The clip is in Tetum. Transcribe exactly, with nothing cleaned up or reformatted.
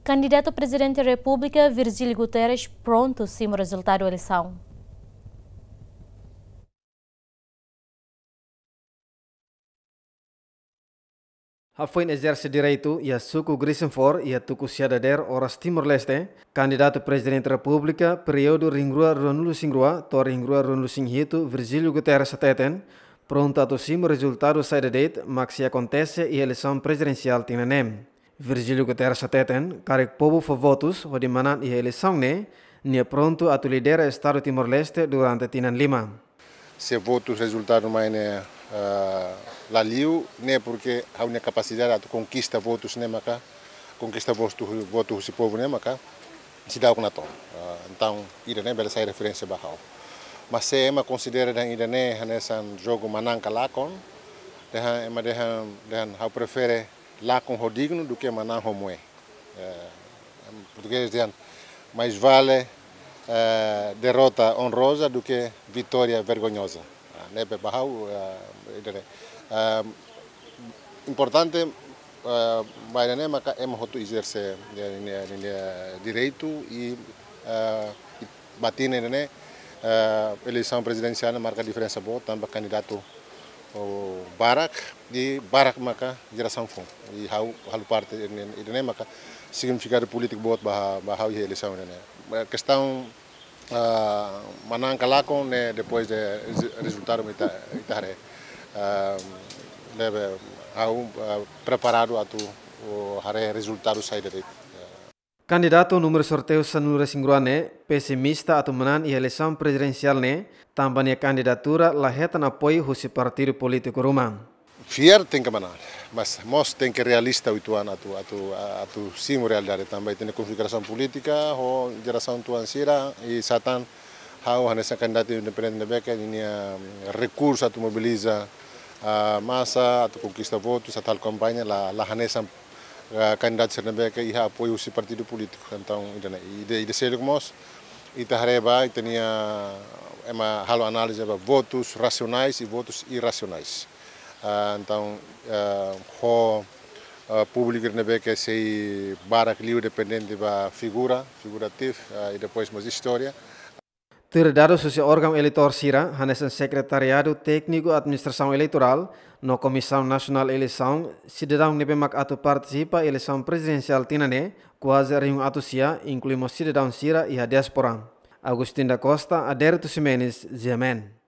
Kandidatu Prezidente Repúblika Virgílio Guterres prontu simu rezultadu eleisaun. Hafoin ezerse direitu iha suku Gricenfor iha tuku sia dadeer oras Timor-Leste, kandidatu Prezidente Repúblika períodu rihun rua ruanulu-resin-rua to'o rihun rua ruanulu-resin-hitu, Virgílio Guterres hateten, prontu atu simu rezultadu saida de'it mak sei akontese iha eleisaun prezidensiál tinan ne'e. Virgílio Guterres hateten, karik povu fó votus hodi manán iha eleisaun ne'e, nia prontu atu lidera Estadu Timor-Leste durante tinan lima. Se votus rezultadu mai ne'e, ah, la liu, ne'e porke ha'u-nia kapasidade atu konkista votus ne'e maka, konkista votu, votu husi povu ne'e maka seidauk natoon. Ah, entaun, ida-ne'e bele sai referénsia ba ha'u. Mas se ema konsidera dehan ida-ne'e hanesan jogu manán ka lakon, dehan ema dehan, dehan ha'u prefere lakon ho dignu duké manán ho moe. Eh, em português dehan, mais vale, eh, derrota honrosa do que vitória vergonhosa. Ah, ne'ebé ba ha'u, eh, ida-ne'e. Ah, importante, eh, ba ida-ne'e maka ema hotu ezerse nia, nia, nia direitu i, eh, i ba tinan ida-ne'e, eh, eleisaun prezidensiál ne'e marka diferensa boot tanba kandidatu, oh, barak, i barak maka jerasaun foun. I ha'u halo parte ida-ne'e, ida-ne'e maka signifikadu polítiku boot ba, ba ha'u iha eleisaun ida-ne'e. Eh, kestaun, ah, manán ka lakon ne'e depois de rezu-, rezultadu ita, ita haree. Ah, ne'ebé ha'u, ah, preparadu atu, oh, haree rezultadu saida de'it. Kandidatu númeru sorteiu sanulu-resin-rua ne'e pesimista atu manán iha eleisaun prezidensiál ne'e, tanba nia kandidatura la hetan apoiu husi partidu polítiku ruma. Fiar tenke manán, mas mós tenke realista uitoan atu, atu, atu simu realidade tanba ita-nia konfigurasaun polítika ho jerasaun tuan sira i satán ha'u hanesan kandidatu independente ne'ebé ke nia, mm, rekursu atu mobiliza, ah, masa atu konkista votus, atu halo kampaña la, la hanesan, ah, kandidatu sira ne'ebé ke iha apoiu husi partidu polítiku. Entaun, ida-ne'e, ida, ida seluk mós, ita haree ba, ita-nia, ema halo análize ba votus rasionais i votus irrasionais. Ah, entaun, ah, ho, ah, públiku ne'ebé ke sei barak liu dependente ba figura, figuratif, ah, i depois mós istória. Tuir dadus husi órgaun eleitór sira, hanesan Sekretariadu Tékniku Administrasaun Eleitorál, no Komisaun Nasionál Eleisaun, sidadaun ne'ebé mak atu partisipa eleisaun prezidensiál tinan ne'e, kuaze rihun atus sia, inklui mós sidadaun sira iha diáspora. Agustin da Costa, Adérito Ximenes, G M N.